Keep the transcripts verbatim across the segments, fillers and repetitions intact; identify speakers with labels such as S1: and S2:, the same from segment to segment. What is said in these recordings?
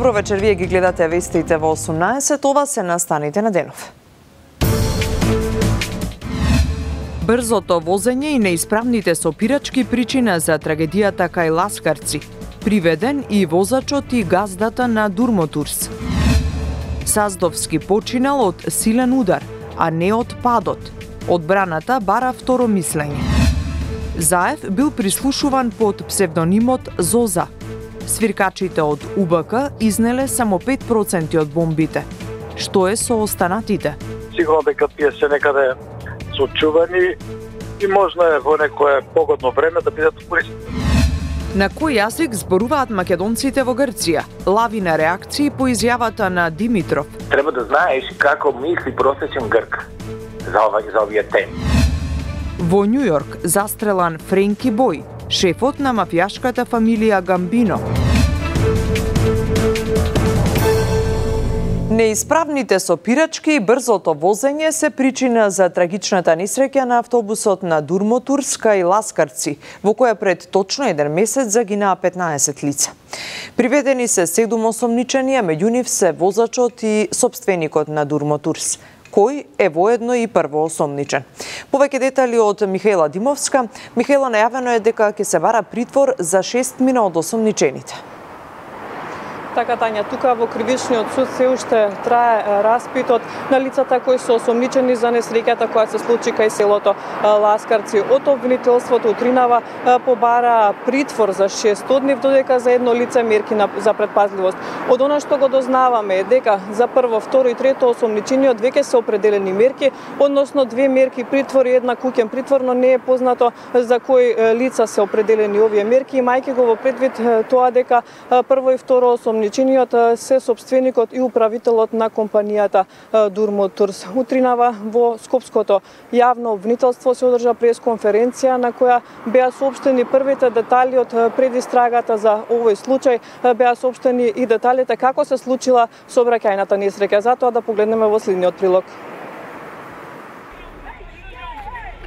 S1: Добро вечер, вие ги гледате вестите во осумнаесет, ова се настаните на денов. Брзото возење и неисправните сопирачки причина за трагедијата кај Ласкарци. Приведен и возачот и газдата на Дурмотурс. Саздовски починал од силен удар, а не од падот. Одбраната бара второ мислење. Заев бил прислушуван под псевдонимот Зоза. Свиркачите од У Б К изнеле само пет проценти од бомбите. Што е со останатите?
S2: Сигурно дека тие се некаде сочувани и можно е во некое погодно време да бидат користени.
S1: На кој јазик зборуваат македонците во Грција? Лавина реакции по изјавата на Димитров.
S3: Треба да знаеш како мисли просечен грк за, ова, за овие теми.
S1: Во Њу Јорк застрелан Френки Бој, шефот на мафијашката фамилија Гамбино. Неисправните сопирачки и брзото возење се причина за трагичната несреќа на автобусот на Дурмотурс кај Ласкарци, во која пред точно еден месец загинаа петнаесет лица. Приведени се седум осомничени, а меѓу нив се возачот и сопственикот на Дурмотурс, кој е воедно и првоосомничен. Повеќе детали од Михаела Димовска. Михаела, најавено е дека ќе се бара притвор за шестмина од осомничените.
S4: Така, Тања, тука во кривичниот суд се уште трае распитот на лицата кои се осомничени за несреќата која се случи кај селото Ласкарци. Од обвинителството утринава побара притвор за шест дни, додека за едно лице мерки за предпазливост. Од она што го дознаваме е дека за прво, второ и трето осомничениот веќе се определени мерки, односно две мерки притвор и една куќен притвор, но не е познато за кои лица се определени овие мерки, имајќи го во предвид тоа дека прво и второ осомничениот се собственикот и управителот на компанијата Дурмотурс. Утринава во Скопското јавно обвинителство се одржа пресконференција на која беа соопштени првите детали од предистрагата за овој случај, беа соопштени и деталите како се случила сообраќајната несреќа. Затоа да погледнеме во следниот прилог.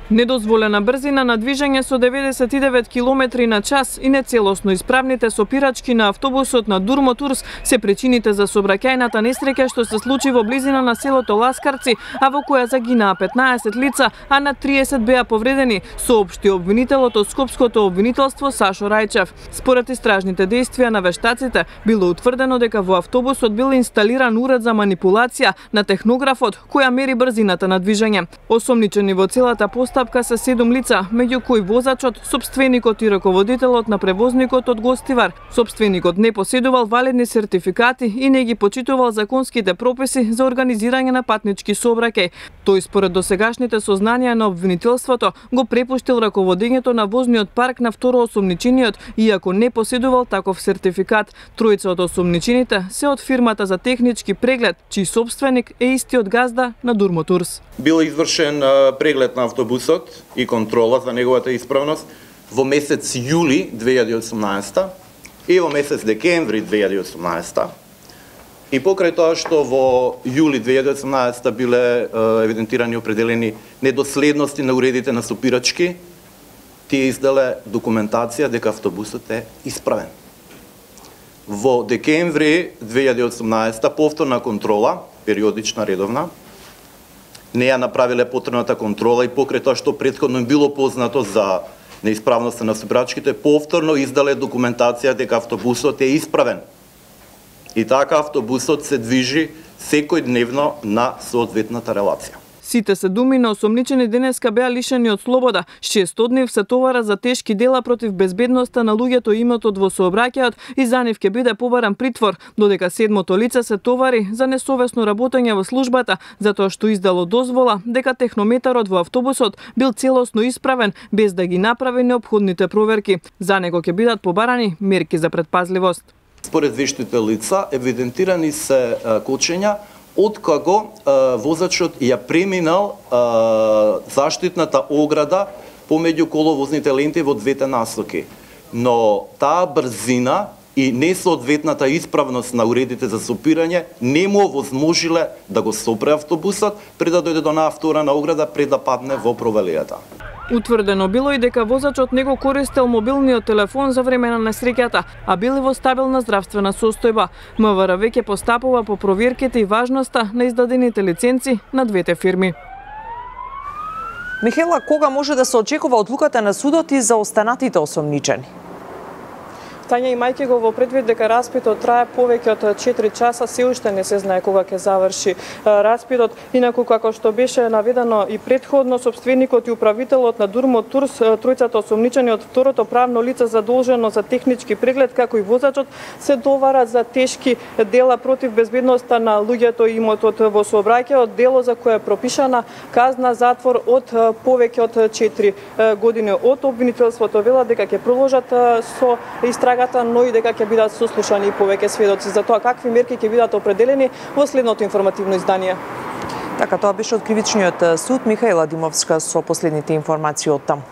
S4: Недозволена брзина на движење со деветдесет и девет километри на час и нецелосно исправните сопирачки на автобусот на Дурмотурс се причините за сообраќајната несреќа што се случи во близина на селото Ласкарци, а во која загинаа петнаесет лица, а на триесет беа повредени, соопшти обвинителот од Скопското обвинителство Сашо Рајчев. Според истражните дејствија на вештаците, било утврдено дека во автобусот бил инсталиран уред за манипулација на технографот која мери брзината на движење. Осомничени во целата постапка се седум лица, меѓу кои возачот, сопственикот и раководителот на превозникот од Гостивар. Сопственикот не поседувал валидни сертификати и не ги почитувал законските прописи за организирање на патнички сообраќај. Тој според досегашните сознанија на обвинителството го препуштил раководењето на возниот парк на второ осомничениот, иако не поседувал таков сертификат. Тројца од осомничените се од фирмата за технички преглед, чиј собственик е истиот газда на Дурмотурс.
S5: Бил извршен преглед на автобусот и контрола за неговата исправност во месец јули две илјади и осумнаесета и во месец декември две илјади и осумнаесета. И покрај тоа што во јули две илјади и осумнаесета биле евидентирани определени недоследности на уредите на сопирачки, тие изделе документација дека автобусот е исправен. Во декември две илјади и осумнаесета повторна контрола, периодична, редовна, не ја направиле потребната контрола и покрај тоа што претходно било познато за неисправноста на сопирачките, повторно издале документација дека автобусот е исправен. И така автобусот се движи секојдневно на соодветната релација.
S4: Сите седуми на осомничени денеска беа лишени од слобода. Шест од нив се товара за тешки дела против безбедноста на луѓето и имотот во сообраќајот и за нив ќе биде побаран притвор, додека седмото лице се товари за несовесно работење во службата, затоа што издало дозвола дека технометарот во автобусот бил целосно исправен без да ги направи неопходните проверки. За него ќе бидат побарани мерки за предпазливост.
S5: Според вештите лица евидентирани се кочења откако возачот ја преминал заштитната ограда помеѓу коловозните ленти во двете насоки. Но таа брзина и несоодветната исправност на уредите за сопирање не му овозможиле да го сопре автобусот пред да дојде до онаа втора на ограда, пред да падне во провалијата.
S4: Утврдено било и дека возачот не го користел мобилниот телефон за време на несреќата, а бил во стабилна здравствена состојба. МВР веќе постапува по проверките и важноста на издадените лиценци на двете фирми.
S1: Михела, кога може да се очекува одлуката на судот и за останатите осомничени?
S4: Тања, имајќи го во предвид дека распитот трае повеќе од четири часа, се уште не се знае кога ќе заврши распитот. Инаку, како што беше наведено и предходно, собственикот и управителот на Дурмо Турс, тројцата осомничени од второто правно лице задолжено за технички преглед, како и возачот, се доварат за тешки дела против безбедноста на луѓето и имотот во сообраќајот, дело за кое е пропишана казна затвор од повеќе од четири години. Од обвинителството велат дека ќе продолжат со истрага, но и дека ќе бидат сослушани и повеќе сведоци за тоа какви мерки ќе бидат определени во следното информативно издание.
S1: Така, тоа беше од Кривичниот суд. Михаела Димовска со последните информации од таму.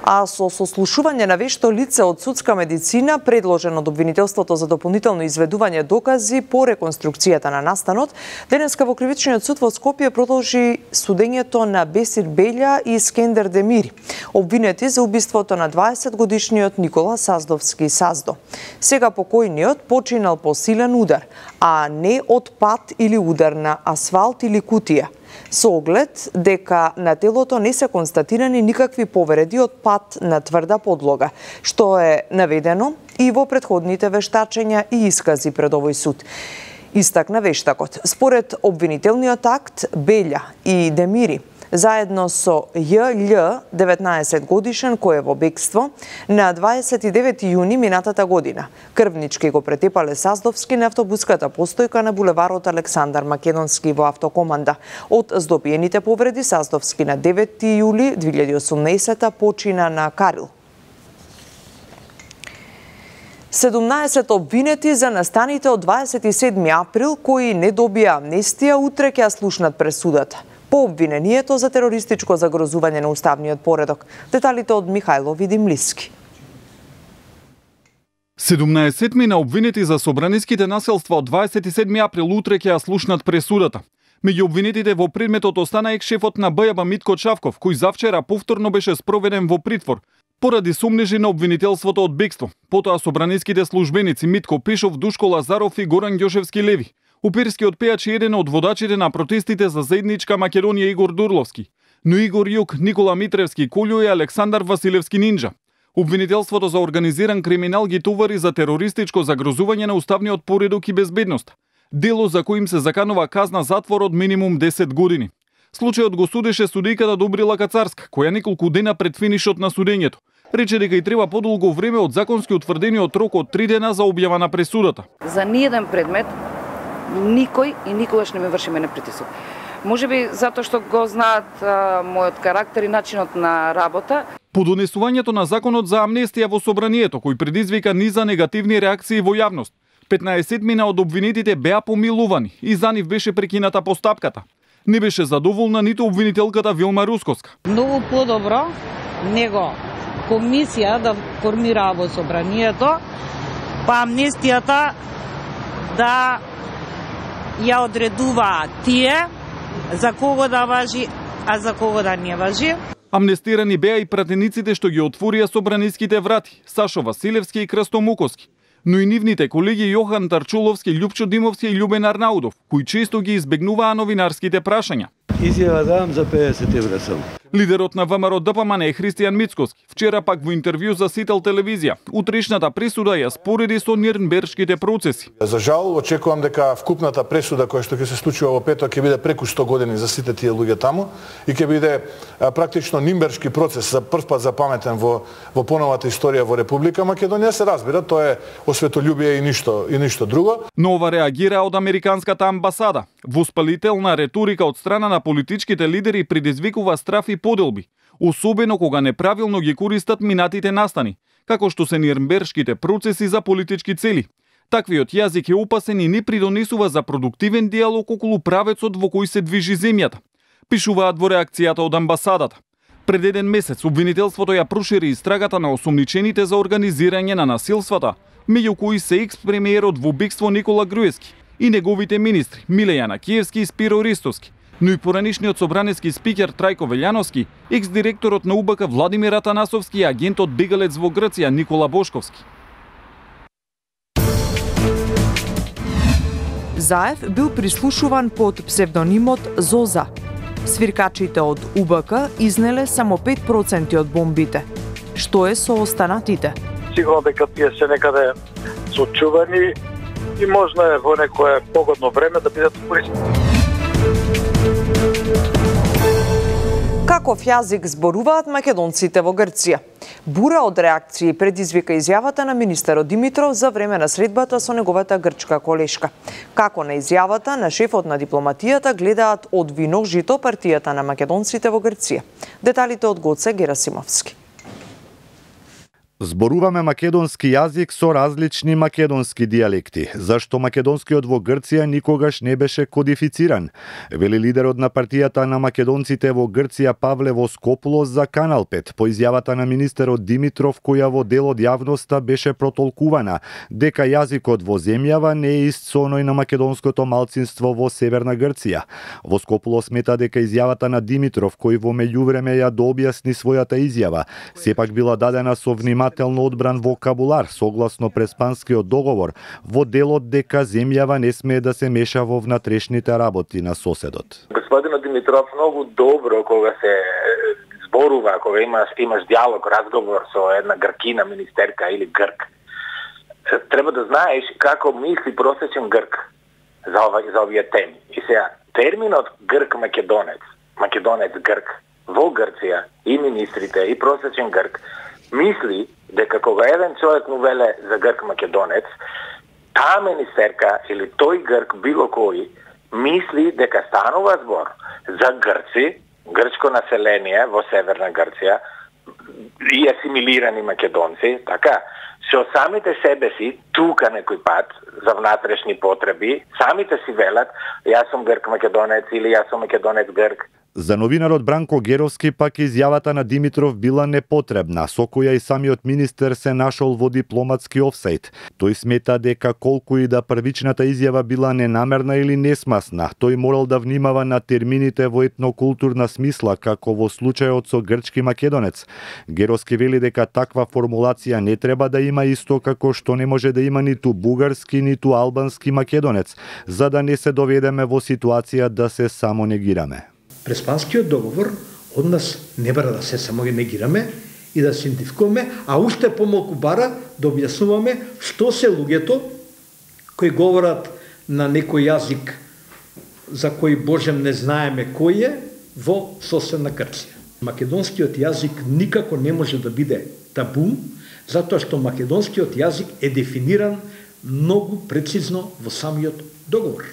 S1: А со сослушување на вешто лице од судска медицина, предложено од обвинителството за дополнително изведување докази по реконструкцијата на настанот, денеска во Кривичниот суд во Скопје продолжи судењето на Бесир Беља и Скендер Демири, обвинети за убиството на дваесет годишниот Никола Саздовски Саздо. Сега покојниот починал по силен удар, а не од пат или удар на асфалт или кутија, со оглед дека на телото не се констатирани никакви повреди од пат на тврда подлога, што е наведено и во претходните вештачења и искази пред овој суд. Истакна вештакот. Според обвинителниот акт, Беља и Демири заедно со Ј.Л. деветнаесет годишен кој е во бегство на дваесет и девети јуни минатата година. Крвнички го претепале Саздовски на автобуската постојка на булеварот Александар Македонски во автокоманда. Од здобиените повреди Саздовски на девети јули две илјади и осумнаесета почина на Карил. седумнаесет обвинети за настаните од дваесет и седми април кои не добија амнестија утре ќе слушнат пресудата по обвинението за терористичко загрозување на уставниот поредок. Деталите од Михајло Видимлиски.
S6: седумнаесетми на обвинети за собраниските населства од дваесет и седми април утре ќе ја слушнат пресудата. Меѓу обвинетите во предметот остана екс-шефот на Б Ј Б Митко Чавков, кој завчера повторно беше спроведен во притвор поради сомнежи на обвинителството од бегство. Потоа собраниските службеници Митко Пешов, Душко Лазаров и Горан Ѓошевски Леви. Уперскиот пејач е еден од водачите на протестите за заедничка Македонија Игор Дурловски, но Игор Јук, Никола Митревски Колјо и Александар Василевски Нинџа. Обвинителството за организиран криминал ги товари за терористичко загрозување на уставниот поредок и безбедност, дело за кој им се заканува казна затвор од минимум десет години. Случајот го судеше судијката Добрила Кацарска, која неколку дена пред финишот на судењето рече дека и треба подолго време од законски утврдениот рок од три дена за објава на пресудата.
S7: За ниеден предмет никој и никогаш не ме врши мене притисок. Може би затоа што го знаат а, мојот карактер и начинот на работа.
S6: По донесувањето на законот за амнестија во собранието, кој предизвика низа негативни реакции во јавност, петнаесетмина од обвинетите беа помилувани и за нив беше прекината постапката. Не беше задоволна ниту обвинителката Вилма Рускоска.
S8: Многу подобро него комисија да формира во собранието, па амнестијата да ја одредуваат тие за кого да важи, а за кого да не важи.
S6: Амнестирани беа и пратениците што ги отворија собраниските врати, Сашо Василевски и Крсто Муковски, но и нивните колеги Јохан Тарчуловски, Љупчо Димовски и Љубен Арнаудов, кои често ги избегнуваа новинарските прашања.
S9: Изјава давам за педесет евра само.
S6: Лидерот на ВМРО Д П М Н е Христијан Мицкоски. Вчера пак во интервју за Сител телевизија, утрешната пресуда ја спореди со нирнбергските процеси.
S10: За жал, очекувам дека вкупната пресуда која што ќе се случува во петок ќе биде преку сто години за сите тие луѓе таму и ќе биде а, практично нирнбергски процес за прв пат запаметен во во поновата историја во Република Македонија. Се разбира, тоа е осветољубие и ништо и ништо друго.
S6: Но ова реагира од американската амбасада. Воспалителна реторика од страна на политичките лидери предизвикува страф и поделби, особено кога неправилно ги користат минатите настани, како што се нирнбергските процеси за политички цели. Таквиот јазик е опасен и не придонесува за продуктивен диалог околу правецот во кој се движи земјата, пишуваат во реакцијата од амбасадата. Пред еден месец обвинителството ја прошири истрагата на осомничените за организирање на насилствата, меѓу кои се екс-премиерот во бегство Никола Груевски и неговите министри Миле Јанакиевски и Спиро Ристовски, но и поранишниот собраниски спикер Трајко Велјановски, екс-директорот на УБК Владимир Атанасовски и агентот бегалец во Грција Никола Бошковски.
S1: Заев бил прислушуван под псевдонимот Зоза. Свиркачите од УБК изнеле само пет проценти од бомбите. Што е со останатите?
S2: Сигурно дека тие се некаде сочувани и можно е во некое погодно време да бидат користени.
S1: Каков јазик зборуваат македонците во Грција? Бура од реакции предизвика изјавата на министерот Димитров за време на средбата со неговата грчка колешка. Како на изјавата на шефот на дипломатијата гледаат од виножито партијата на македонците во Грција. Деталите од Гоце Герасимовски.
S11: Зборуваме македонски јазик со различни македонски дијалекти, зашто македонскиот во Грција никогаш не беше кодифициран, вели лидерот на партијата на македонците во Грција Павле Воскопулос за Канал пет по изјавата на министерот Димитров, која во дел од јавноста беше протолкувана дека јазикот во земјава не е ист со оној на македонското малцинство во Северна Грција. Воскопулос смета дека изјавата на Димитров, кој во меѓувреме ја дообјасни својата изјава, сепак била дадена со внимателно одбран вокабулар согласно Преспанскиот договор во делот дека земјава не смее да се меша во внатрешните работи на соседот.
S3: Господинот Димитров многу добро кога се зборува, кога имаш имаш диалог, разговор со една гркина министерка или грк. Треба да знаеш како мисли просечен грк за ова за овие теми. И сега терминот грк македонец, македонец грк во Грција и министрите и просечен грк мисли дека кога еден човек му веле за грк македонец, таа министерка или тој грк било кој мисли дека станува збор за грци, грчко население во Северна Грција и асимилирани македонци, така, со самите себе си, тука некој пат, за внатрешни потреби, самите си велат, јас сум грк македонец или јас сум македонец грк.
S11: За новинарот Бранко Геровски пак изјавата на Димитров била непотребна, со која и самиот министер се нашол во дипломатски офсајд. Тој смета дека колку и да првичната изјава била ненамерна или несмасна, тој морал да внимава на термините во етнокултурна смисла, како во случајот со грчки македонец. Геровски вели дека таква формулација не треба да има исто како што не може да има ниту бугарски, ниту албански македонец, за да не се доведеме во ситуација да се само негираме.
S12: Преспанскиот договор од нас не бара да се само негираме и да се идентификуваме, а уште помалку бара да објаснуваме што се луѓето кои говорат на некој јазик за кој Божем не знаеме кој е во соседна Грција. Македонскиот јазик никако не може да биде табу, затоа што македонскиот јазик е дефиниран многу прецизно во самиот договор.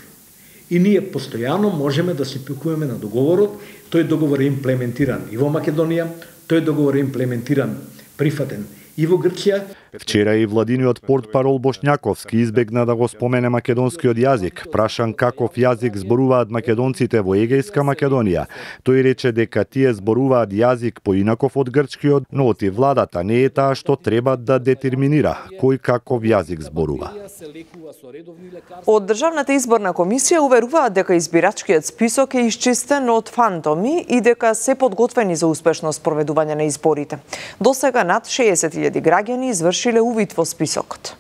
S12: И ние постојано можеме да се пикуваме на договорот. Тој договор е имплементиран и во Македонија, тој договор е имплементиран, прифатен и во Грција.
S11: Вчера и владиниот портпарол Бошњаковски избегна да го спомене македонскиот јазик, прашан каков јазик зборуваат македонците во Егејска Македонија. Тој рече дека тие зборуваат јазик поинаков од грчкиот, но оти владата не е таа што треба да детерминира кој каков јазик зборува.
S1: Од Државната изборна комисија уверуваат дека избирачкиот список е исчистен од фантоми и дека се подготвени за успешно спроведување на изборите. Досега над шеесет илјади граѓани извршиле увид во списокот.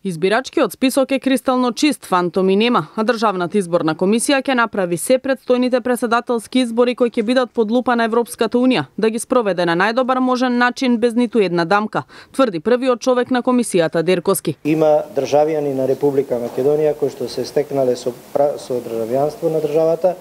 S4: Избирачкиот список е кристално чист, фантоми нема, а Државната изборна комисија ќе направи се предстојните претседателски избори кои ќе бидат под лупа на Европската унија, да ги спроведе на најдобар можен начин без ниту една дамка, тврди првиот човек на комисијата Дерковски.
S13: Има државјани на Република Македонија кои што се стекнале со, со државјанство на државата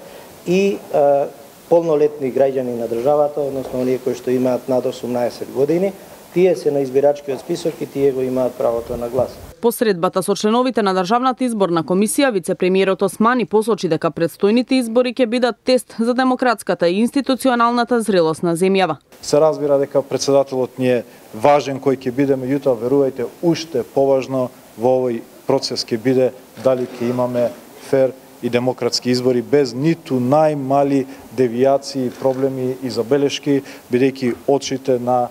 S13: и а, полнолетни граѓани на државата, односно оние кои што имаат над осумнаесет години, тие се на избирачкиот список и тие го имаат правото на глас.
S4: По средбата со членовите на Државната изборна комисија, вице-премиерот Османи посочи дека предстојните избори ќе бидат тест за демократската и институционалната зрелост на земјава.
S14: Се разбира дека претседателот ни е важен кој ќе биде, меѓутоа верувајте, уште поважно во овој процес ќе биде дали ќе имаме фер и демократски избори без ниту најмали девијации, проблеми и забелешки, бидејќи очите на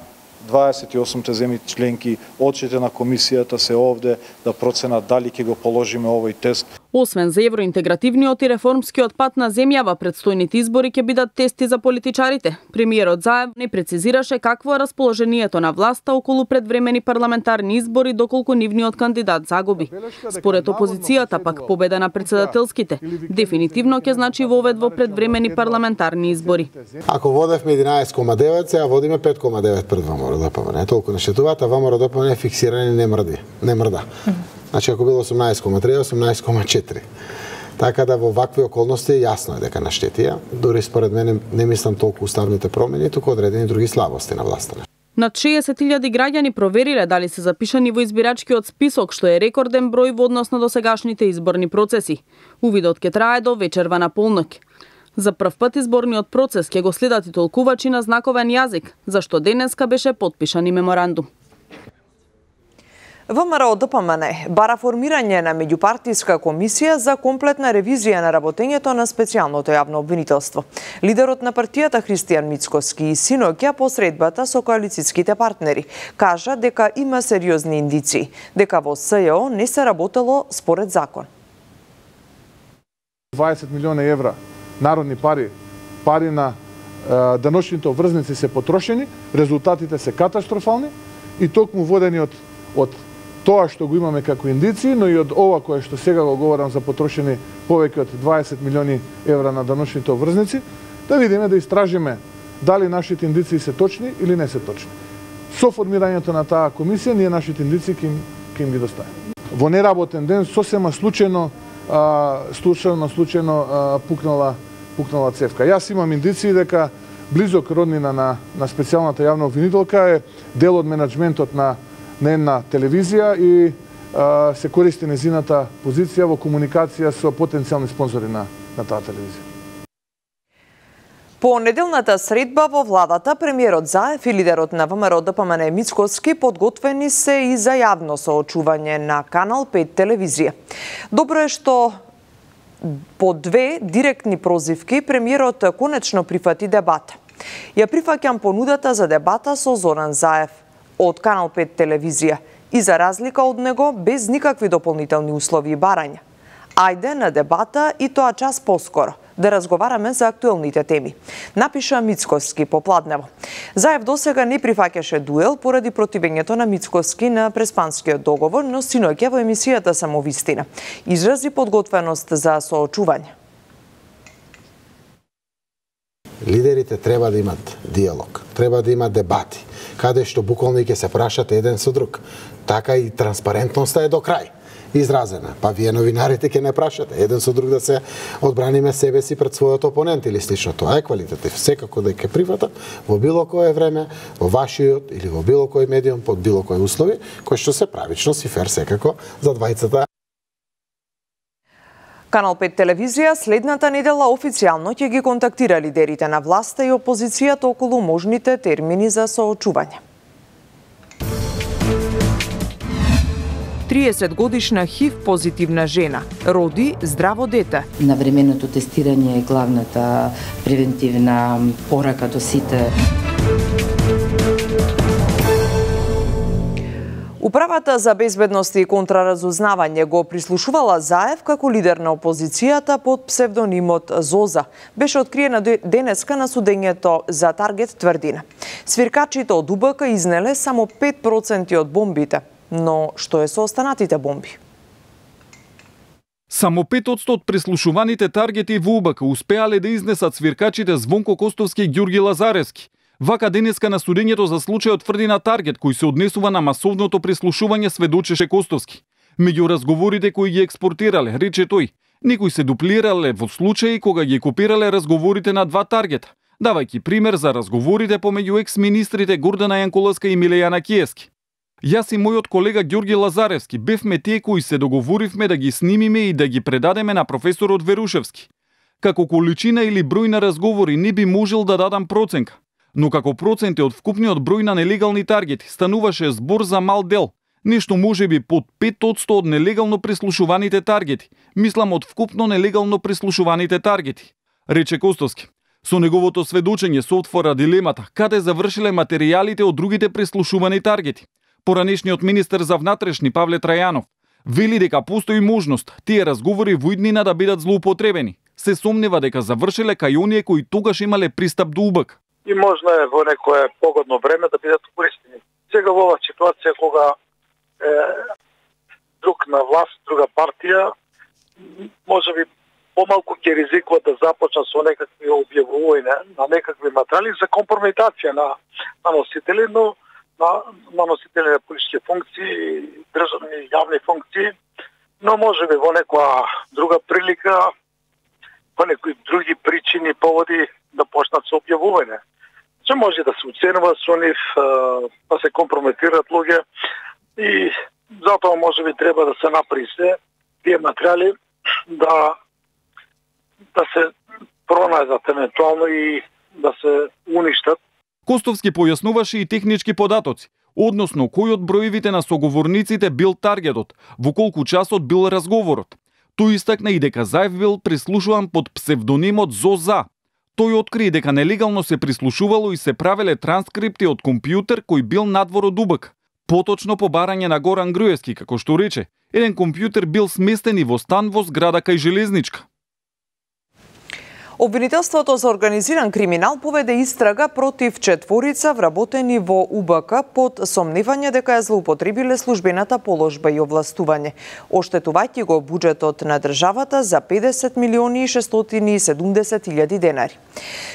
S14: дваесет и осумте земји членки, очите на комисијата се овде да проценат дали ќе го положиме овој тест.
S4: Освен за евроинтегративниот и реформскиот пат на земјава, предстојните избори ќе бидат тести за политичарите. Премиерот Заев не прецизираше какво е расположението на власта околу предвремени парламентарни избори доколку нивниот кандидат загуби. Според опозицијата пак победа на председателските дефинитивно ќе значи вовед во предвремени парламентарни избори.
S15: Ако водевме единаесет кома девет, сега водиме пет кома девет пред ВМРО-ДПМН. Не толку не шетуваат, а ВМРО-ДПМН е фиксиран и не мрди, не мрда. Значи ако било осумнаесет кома три, осумнаесет кома четири. Така да во вакви околности јасно е дека наштетија. Дори според мене не мислам толку уставните промени, туку одредени други слабости на власта.
S4: Над шеесет илјади граѓани провериле дали се запишани во избирачкиот список, што е рекорден број во однос на досегашните изборни процеси. Увидот ќе трае до вечерва на полноќ. За прв пат изборниот процес ќе го следат и толкувачи на знаковен јазик, зашто денеска беше потпишан и меморандум.
S1: ВМРО-ДПМН бара формирање на меѓупартиска комисија за комплетна ревизија на работењето на специјалното јавно обвинителство. Лидерот на партијата Христијан Мицкоски и синоќа по средбата со коалициските партнери кажа дека има сериозни индиции, дека во СЈО не се работело според закон.
S10: дваесет милиони евра народни пари, пари на е, даночните обврзници се потрошени, резултатите се катастрофални и токму водени од од тоа што го имаме како индиции, но и од ова кое што сега го говорам за потрошени повеќе од дваесет милиони евра на даночните обврзници, да видиме, да истражиме дали нашите индиции се точни или не се точни. Со формирањето на таа комисија, ние нашите индиции ќе им, ќе им ги доставиме. Во неработен ден, сосема случајно, а, случајно, случајно а, пукнала, пукнала цевка. Јас имам индиции дека близок роднина на, на специјалната јавна обвинителка е дел од менаџментот на на една телевизија и а, се користи незината позиција во комуникација со потенцијални спонзори на, на таа телевизија.
S1: По неделната средба во владата, премиерот Заев и лидерот на ВМРО-ДПМН Мицкоски подготвени се и за јавно соочување на Канал пет телевизија. Добро е што по две директни прозивки премиерот конечно прифати дебата. Ја прифаќам понудата за дебата со Зоран Заев од Канал пет телевизија и за разлика од него без никакви дополнителни услови и барања. Ајде на дебата и тоа час поскоро, да разговараме за актуелните теми, напиша Мицкоски попладнево. Заев досега не прифаќаше дуел поради противењето на Мицкоски на Преспанскиот договор, но синоќа во емисијата Самовистина изрази подготвеност за соочување.
S15: Лидерите треба да имат диалог, треба да имат дебати, каде што буквално ќе се прашат еден со друг. Така и транспарентноста е до крај изразена. Па вие новинарите ќе не прашате еден со друг да се одбраниме себе си пред својот опонент или слично. Тоа е квалитетив. Секако да ќе прифатам во било кое време, во вашиот или во било кој медиум, под било кои услови, кои што се правично и фер секако за двајцата.
S1: Канал пет телевизија следната недела официјално ќе ги контактира лидерите на власта и опозицијата околу можните термини за соочување. триесет годишна ХИВ позитивна жена роди здраво дете.
S16: Навременото тестирање е главната превентивна порака до сите.
S1: Управата за безбедност и контраразузнавање го прислушувала Заев како лидер на опозицијата под псевдонимот Зоза. Беше откриена денеска на судењето за Таргет тврдина. Свиркачите од УБК изнеле само пет проценти од бомбите, но што е со останатите бомби?
S6: Само пет одсто од прислушуваните таргети во УБК успеале да изнесат свиркачите Звонко Костовски и Ѓурги Лазаревски. Вака денеска на судењето за случајот тврдина Таргет, кој се однесува на масовното прислушување, сведочеше Костовски. Меѓу разговорите кои ги експортирале, рече тој, некои се дуплирале во случаи кога ги копирале разговорите на два Таргета, давајќи пример за разговорите помеѓу екс-министрите Гордана Јанкуловска и Милејана Киевски. Јас и мојот колега Ѓурги Лазаревски бевме тие кои се договоривме да ги снимиме и да ги предадеме на професорот Верушевски. Како количина или број на разговори не би можел да дадам проценка, но како проценти од вкупниот број на нелегални таргети стануваше збор за мал дел, нешто можеби под пет одсто од нелегално прислушуваните таргети, мислам од вкупно нелегално прислушуваните таргети, рече Костовски. Со неговото сведочење се отвора дилемата каде завршиле материјалите од другите прислушувани таргети. Поранешниот министер за внатрешни Павле Трајанов Вели дека постои можност тие разговори во иднина да бидат злоупотребени. Се сомнева дека завршиле кај оние кои тогаш имале пристап до УБК.
S2: И можно е во некое погодно време да бидат користени. Сега во оваа ситуација кога е, друг на власт, друга партија, може би помалку ќе ризикува да започна со некакви објавувања на некакви материјали за компрометација на, на носители, но на, на носители на политички функции, државни јавни функции, но може би во некоја друга прилика, по некои други причини, поводи да почнат со објавување. Че може да се уценува со нив, да се компрометираат луѓе и затоа може би треба да се направи се тие материјали да да се пронајдат евентуално и да се уништат.
S6: Костовски појаснуваше и технички податоци, односно кој од броевите на соговорниците бил таргетот, во колку часот бил разговорот. Тој истакна и дека Заев бил прислушуван под псевдонимот Зоза. Тој откри дека нелегално се прислушувало и се правеле транскрипти од компјутер кој бил надвор од УБК. Поточно по барање на Горан Груевски, како што рече, еден компјутер бил сместен и во стан во зграда кај Железничка.
S1: Обвинителството за организиран криминал поведе истрага против четворица вработени во УБК под сомневање дека ја злоупотребиле службената положба и овластување, оштетувајќи го буџетот на државата за педесет милиони и шестстотини и седумдесет илјади денари.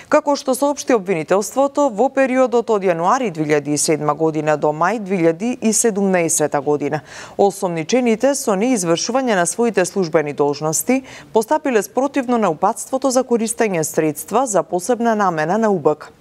S1: Како што соопшти обвинителството, во периодот од јануари две илјади и седма година до мај две илјади и седумнаесета година, осомничените со неизвршување на своите службени должности постапиле спротивно на упатството за користење средства за посебна намена на УБК.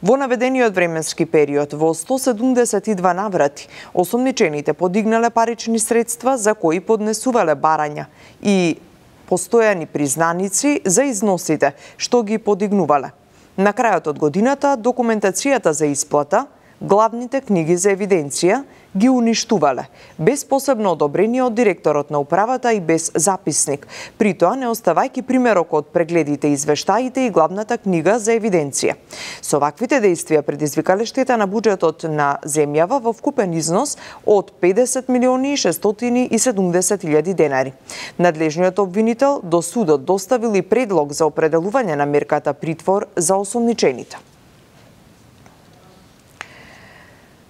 S1: Во наведениот временски период, во сто седумдесет и два наврати, осомничените подигнале парични средства за кои поднесувале барања и постојани признаници за износите што ги подигнувале. На крајот од годината, документацијата за исплата, главните книги за евиденција ги уништувале, без посебно одобрение од директорот на управата и без записник, при тоа не оставајќи примерок од прегледите, извештаите и главната книга за евиденција. Со ваквите действија предизвикале штета на буџетот на земјава во вкупен износ од педесет милиони и шестстотини и седумдесет илјади денари. Надлежниот обвинител до судот доставил и предлог за определување на мерката притвор за осомничените.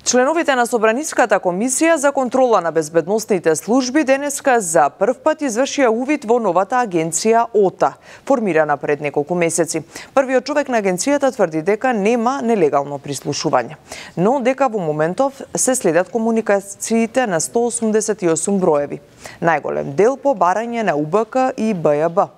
S1: Членовите на Собраниската комисија за контрола на безбедносните служби денеска за прв пат извршија увид во новата агенција ОТА, формирана пред неколку месеци. Првиот човек на агенцијата тврди дека нема нелегално прислушување, но дека во моментов се следат комуникациите на сто осумдесет и осум броеви. Најголем дел по барање на УБК и БЈБ.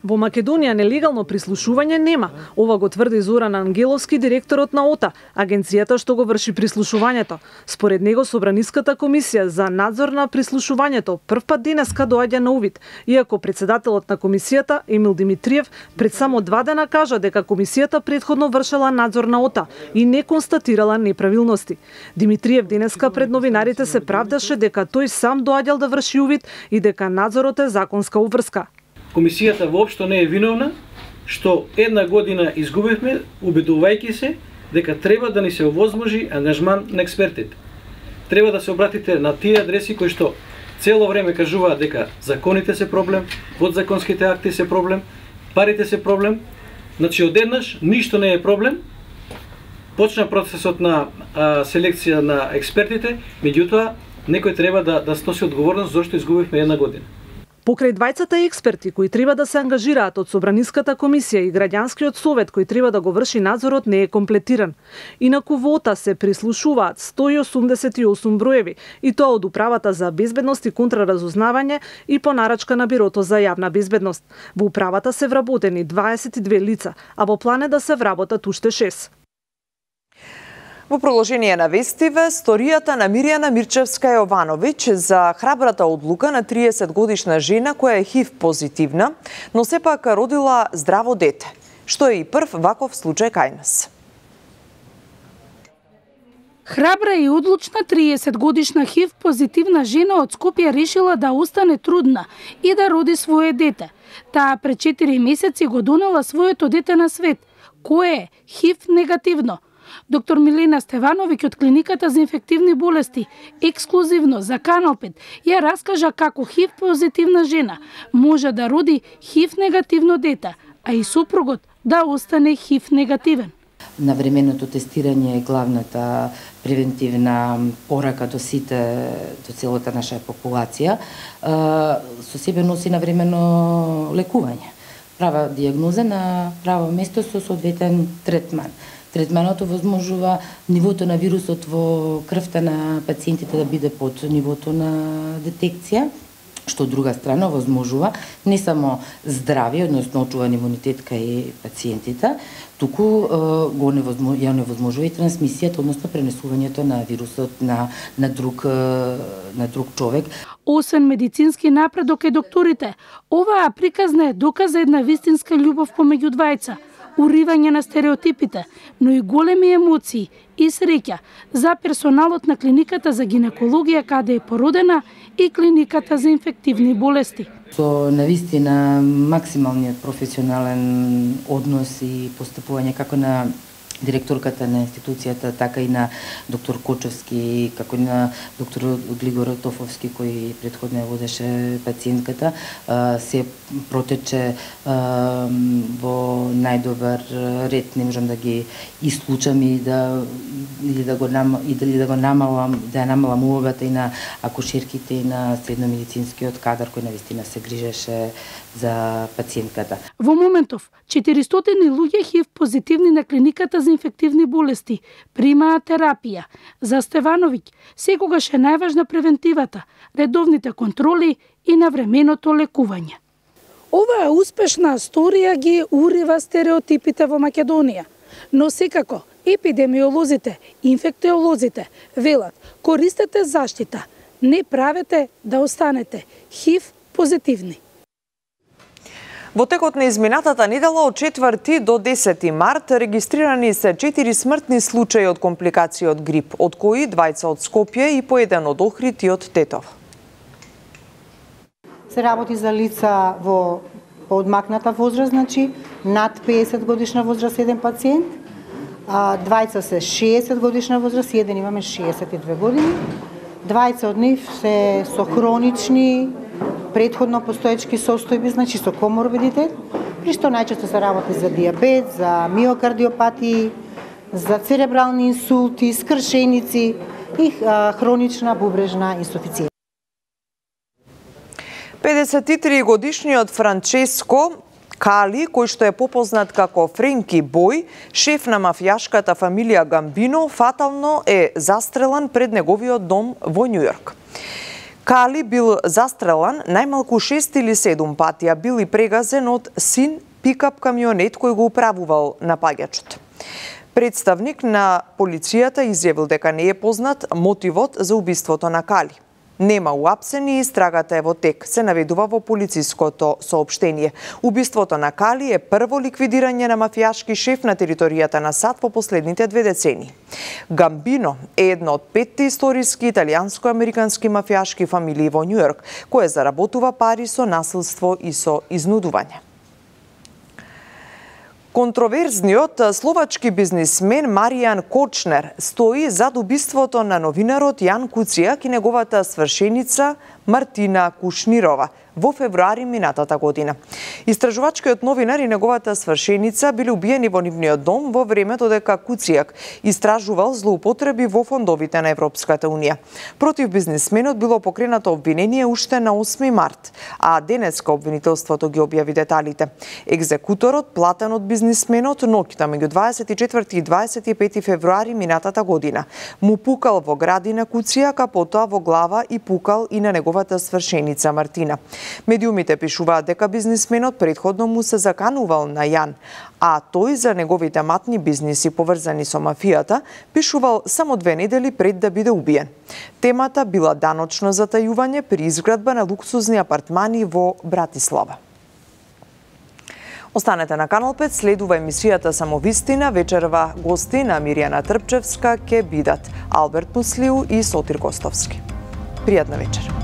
S4: Во Македонија нелегално прислушување нема. Ова го тврди Зоран Ангеловски, директорот на ОТА, агенцијата што го врши прислушувањето. Според него Собраниската комисија за надзор на прислушувањето прв пат денеска доаѓа на увид, иако председателот на комисијата Емил Димитриев пред само два дена кажа дека комисијата претходно вршела надзор на ОТА и не констатирала неправилности. Димитриев денеска пред новинарите се правдаше дека тој сам доаѓал да врши увид и дека надзорот е законска обврска.
S17: Комисијата воопшто не е виновна што една година изгубивме, убедувајќи се дека треба да ни се овозможи ангажман на експертите. Треба да се обратите на тие адреси кои што цело време кажуваат дека законите се проблем, подзаконските акти се проблем, парите се проблем. Значи одеднаш ништо не е проблем. Почна процесот на а, селекција на експертите, меѓутоа некој треба да да сноси одговорност зашто изгубивме една година.
S4: Покрај двајцата експерти кои треба да се ангажираат од Собраниската комисија и граѓанскиот совет кој треба да го врши надзорот не е комплетиран. Инаку во ОТА се прислушуваат сто осумдесет и осум броеви, и тоа од Управата за безбедност и контраразузнавање и по нарачка на Бирото за јавна безбедност. Во управата се вработени дваесет и две лица, а во план е да се вработат уште шест.
S1: Во продолжение на вестиве, сторијата на Мирјана Мирчевска Јовановиќ за храбрата одлука на триесет годишна жена која е ХИВ позитивна, но сепак родила здраво дете, што е и прв ваков случај кај нас.
S18: Храбра и одлучна триесет годишна ХИВ позитивна жена од Скопје решила да остане трудна и да роди свое дете. Таа пред четири месеци го донела своето дете на свет, кое е ХИВ негативно. доктор Милена Стевановиќ од клиниката за инфективни болести ексклузивно за Канал пет ја раскажа како ХИВ позитивна жена може да роди ХИВ негативно дете, а и супругот да остане ХИВ негативен.
S16: Навременото тестирање е главната превентивна порака до сите, до целата наша популација. Со себе носи навремено лекување. Права диагноза на право место со соодветен третман. Третманот возможува нивото на вирусот во крвта на пациентите да биде под нивото на детекција, што од друга страна возможува не само здравје, односно очуван имунитет кај пациентите, туку го невозможува, ја невозможува и трансмисијата, односно пренесувањето на вирусот на на друг на друг човек.
S18: Освен медицински напредок е докторите, оваа приказна е доказ за една вистинска љубов помеѓу двајца, уривање на стереотипите, но и големи емоции и среќа за персоналот на клиниката за гинекологија каде е породена и клиниката за инфективни болести.
S16: Со навистина максималниот професионален однос и постапување како на директорката на институцијата, така и на доктор Кочевски, како и на доктор Глигор Тофовски, кој претходно ја водеше пациентката, се протече во најдобар ред. Не можам да ги исклучам и да или да го нам или да го намалам, да ја намалам улогата и на акушерките и на средномедицинскиот кадар кој навистина се грижеше за пациентката.
S18: Во моментов четиристотини луѓе ХИВ позитивни на клиниката за инфективни болести примаат терапија. За Стевановиќ секогаш е најважна превентивата, редовните контроли и навременото лекување. Оваа успешна сторија ги урива стереотипите во Македонија, но секако епидемиолозите, инфектиолозите велат: користете заштита, не правете да останете ХИВ позитивни.
S1: Во текот на изминатата недела од четврти до десети март регистрирани се четири смртни случаи од компликации од грип, од кои двајца од Скопје и по еден од Охрид и од Тетово.
S19: Се работи за лица во поодмакната возраст, значи над педесет годишна возраст еден пациент, а двајца се шеесет годишна возраст, еден имаме шеесет и две години. Двајца од нив се со хронични претходно постоечки состојби, значи со коморбидитет, при што најчесто се работи за диабет, за миокардиопатии, за церебрални инсулти, скршеници и а, хронична бубрежна инсуфицијенца.
S1: педесет и три годишниот Франческо Кали, кој што е попознат како Френки Бој, шеф на мафијашката фамилија Гамбино, фатално е застрелан пред неговиот дом во Њујорк. Кали бил застрелан најмалку шест или седум пати, а бил и прегазен од син пикап камионет кој го управувал напаѓачот. Представник на полицијата изјавил дека не е познат мотивот за убиството на Кали. Нема уапсени и истрагата е во тек, се наведува во полициското соопштение. Убиството на Кали е прво ликвидирање на мафијашки шеф на територијата на САД во последните две децении. Гамбино е една од петте историски италијанско-американски мафијашки фамилии во Њујорк, која заработува пари со насилство и со изнудување. Контроверзниот словачки бизнисмен Маријан Кочнер стои зад убиството на новинарот Јан Куцијак и неговата свршеница Мартина Кушнирова во февруари минатата година. Истражувачкиот новинар и неговата свршеница биле убиени во нивниот дом во времето дека Куцијак истражувал злоупотреби во фондовите на Европската Унија. Против бизнисменот било покренато обвинение уште на осми март, а денеска обвинителството ги објави деталите. Екзекуторот, платен од бизнисменот, ноќта меѓу дваесет и четврти и дваесет и пети февруари минатата година, му пукал во гради на Куцијак, а потоа во глава и пукал и на неговата свршеница Мартина. Медиумите пишуваат дека бизнисменот претходно му се заканувал на Јан, а тој за неговите матни бизниси поврзани со мафијата пишувал само две недели пред да биде убиен. Темата била даночно затајување при изградба на луксузни апартмани во Братислава. Останете на Канал пет, следува емисијата Самовистина, вечерва гости на Миријана Трпчевска ке бидат Алберт Муслиу и Сотир Костовски. Пријатна вечер.